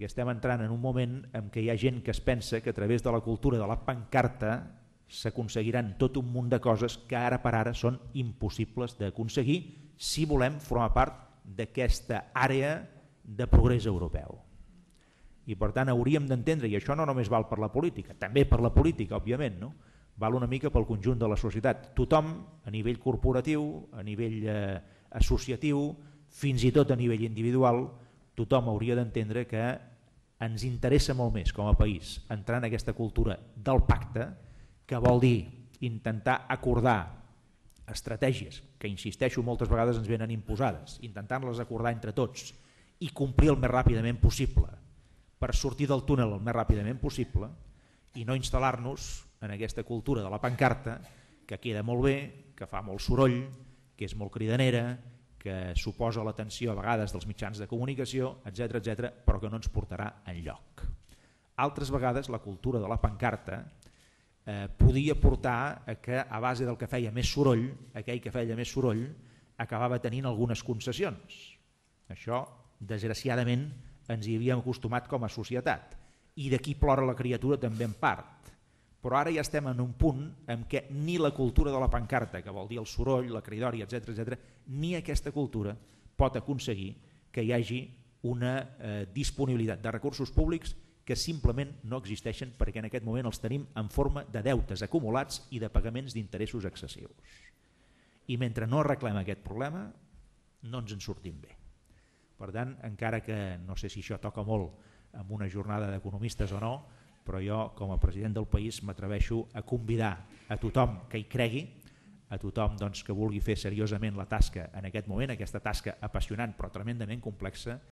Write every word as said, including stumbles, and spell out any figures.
perquè estem entrant en un moment en què hi ha gent que es pensa que a través de la cultura de la pancarta s'aconseguiran tot un munt de coses que ara per ara són impossibles d'aconseguir si volem formar part d'aquesta àrea de progrés europeu. I per tant hauríem d'entendre, i això no només val per la política, també per la política, òbviament, no? Val una mica pel conjunt de la societat. Tothom, a nivell corporatiu, a nivell eh, associatiu, fins i tot a nivell individual, tothom hauria d'entendre que ens interessa molt més com a país entrar en aquesta cultura del pacte, que vol dir intentar acordar estratègies que, insisteixo, moltes vegades ens venen imposades, intentant-les acordar entre tots i complir el més ràpidament possible per sortir del túnel el més ràpidament possible i no instal·lar-nos en aquesta cultura de la pancarta que queda molt bé, que fa molt soroll, que és molt cridanera, que suposa l'atenció a vegades dels mitjans de comunicació, etcètera, etcètera, però que no ens portarà enlloc. Altres vegades la cultura de la pancarta eh, podia portar a que a base del que feia més soroll, aquell que feia més soroll acabava tenint algunes concessions. Això, desgraciadament, ens hi havíem acostumat com a societat i d'aquí plora la criatura també en part, però ara ja estem en un punt en què ni la cultura de la pancarta, que vol dir el soroll, la cridòria, etcètera, etcètera, ni aquesta cultura pot aconseguir que hi hagi una eh, disponibilitat de recursos públics que simplement no existeixen perquè en aquest moment els tenim en forma de deutes acumulats i de pagaments d'interessos excessius. I mentre no arreglem aquest problema no ens en sortim bé. Per tant, encara que no sé si això toca molt en una jornada d'economistes o no, però jo com a president del país m'atreveixo a convidar a tothom que hi cregui, a tothom doncs, que vulgui fer seriosament la tasca en aquest moment, aquesta tasca apassionant però tremendament complexa,